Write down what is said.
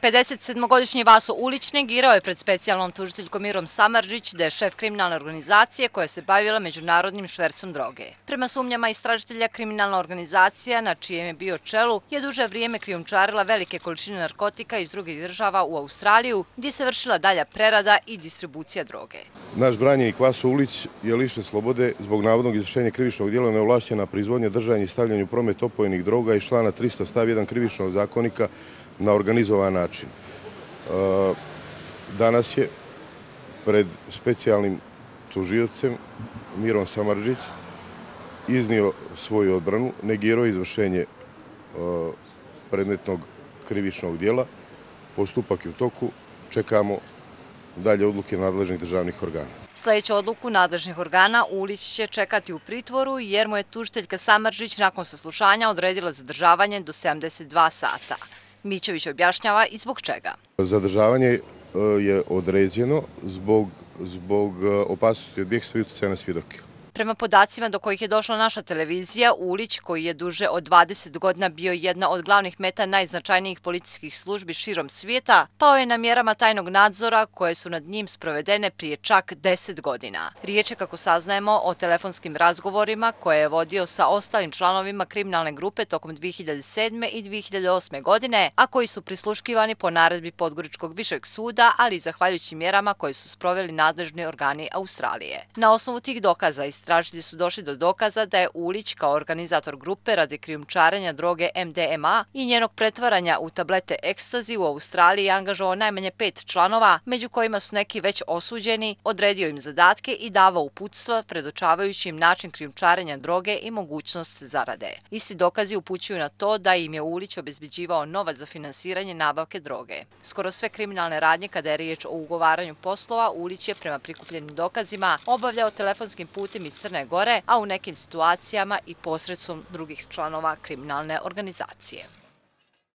57-godišnji Vaso Ulić negirao je pred specijalnom tužiteljkom Mirom Samardžić da je šef kriminalne organizacije koja se bavila međunarodnim švercom droge. Prema sumnjama istražitelja, kriminalna organizacija na čijem je bio čelu je duže vrijeme krijumčarila velike količine narkotika iz drugih država u Australiju, gdje se vršila dalja prerada i distribucija droge. Naš branjenik Vaso Ulić je lišen slobode zbog navodnog izvršenja krivičnog djela neovlašćena proizvodnja, držanje i stavljanje u promet opojnih droga iz člana 300 stav 1 krivičnog zakonika na organizovan način. Danas je pred specijalnim tužiocem Mirom Samardžić iznio svoju odbranu, negirao izvršenje predmetnog krivičnog djela. Postupak je u toku, čekamo dalje odluke nadležnih državnih organa. Sljedeću odluku nadležnih organa Ulić će čekati u pritvoru jer mu je tužiteljka Samardžić nakon saslušanja odredila zadržavanje do 72 sata. Mićević objašnjava i zbog čega. Zadržavanje je određeno zbog opasnosti od bjegstva i utjecaja na svjedoke. Prema podacima do kojih je došla naša televizija, Ulić, koji je duže od 20 godina bio jedna od glavnih meta najznačajnijih policijskih službi širom svijeta, pao je na mjerama tajnog nadzora koje su nad njim sprovedene prije čak 10 godina. Riječ je, kako saznajemo, o telefonskim razgovorima koje je vodio sa ostalim članovima kriminalne grupe tokom 2007. i 2008. godine, a koji su prisluškivani po naredbi Podgoričkog višeg suda, ali i zahvaljujući mjerama koje su sproveli nadležni organi Australije. Na osnovu tih dokaza istražitelji su došli do dokaza da je Ulić kao organizator grupe radi krijumčarenja droge MDMA i njenog pretvaranja u tablete ekstazi u Australiji angažovao najmanje 5 članova, među kojima su neki već osuđeni, odredio im zadatke i davao uputstva predočavajući im način krijumčarenja droge i mogućnost zarade. Isti dokazi upućuju na to da im je Ulić obezbeđivao novac za finansiranje nabavke droge. Skoro sve kriminalne radnje kada je riječ o ugovaranju poslova, Ulić je prema prikupljenim dokazima obavljao telefonskim putem iz Crne Gore, a u nekim situacijama i posredstvom drugih članova kriminalne organizacije.